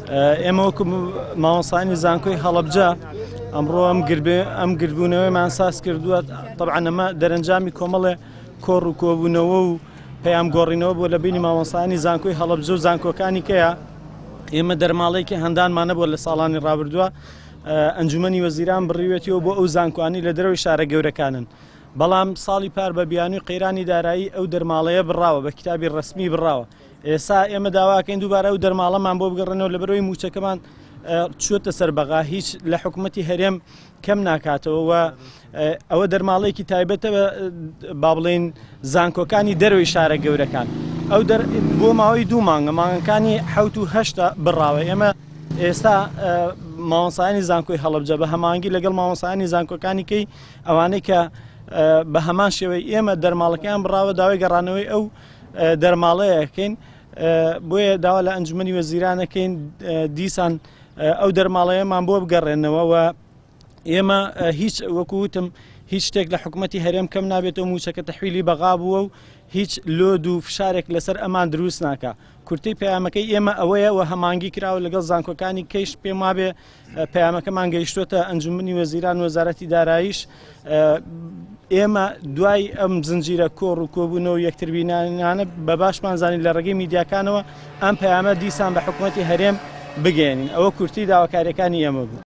ئێمە وەکو مامۆستایانی زانکۆی هەڵەبجە ئەمڕۆ ئەم گربێ ئەم گردبوونەوەیمان ساز کردووە طبعا ئەمە دەرەنجامی کۆمەڵێ کۆڕ و کۆبوونەوە و پەیام گۆڕینەوە بۆ لە بینی مامۆستایانی زانکۆی هەڵەبجە و زانکۆکانی کەیە ئێمە دەرماڵەیەکی هەندانمان نەبووە لە ساڵانی ڕابردووە ئەنجومەنی وەزیران بڕیوێتیەوە بۆ ئەو زانکۆانی لە دەرەوەی شارە گەورەکانن بەڵام ساڵی پار بە بیانووی قەیرانی دارایی ئەو دەرماڵەیە بڕاوە بە کتابی ڕەسمی بڕاوە ئێستا ئێمە داواکەین دووبارە ئەو دەرماڵەمان بۆ بگەڕێنەوە لەبەرەوەی مووچەکەمان چووەتە سەر بەغا هیچ لە حکوومەتی هەرێم کەم ناکاتەوە و ئەوە دەرماڵەیەکی تایبەتە با بڵێین زانکۆکانی دەرەوەی شارە گەورەکان ئەو دەر بۆ ماوەی دوو مانگە مانگەکانی حەوت و هەشتا بڕاوە ئێمە ئێستا مامۆستایانی زانکۆی هەڵەبجە بە هەمانگی لەگەڵ مامۆستایانی زانکۆکانی کەی ئەوانەی کە بە هەمان شێوەی ئێمە دەرماڵەکەیان بڕاوە داوای گەڕانەوەی ئەو دەرماڵەیەکەین بۆیە داوا لە ئەنجومەنی وەزیرانەکەین دیسان ئەو دەرماڵەیەمان بۆ بگەڕێنەوە و ئێمە هیچ وەکو وتم هیچ شتێک لە حکوومەتتی هەرێم کەم نابێتەوە موچەکە تەحویلی بەغا بووە و هیچ لۆد و فشارێک لەسەر ئەمان دروست ناکە کورتەی پەیامەکەی ئێمە ئەوەیە و هەمانگی کراوە لەگەڵ زانکۆکانی کەیش پێم وابێ پەیامەکەمان گەیشتوتە ئەنجومنی وەزیران وەزارەتی داراییش ئێمە دوای ئەم زنجیرە کۆڕ و کۆبوونەوە یەکتربینانە بە باشمان زانین لە ڕێگەی میدیاکانەوە ئەم پەیامە دیسان بە حکوومەتی هەرێم بگەێنین ئەوە کورتی داواکاریەکانی ئێمە بوو.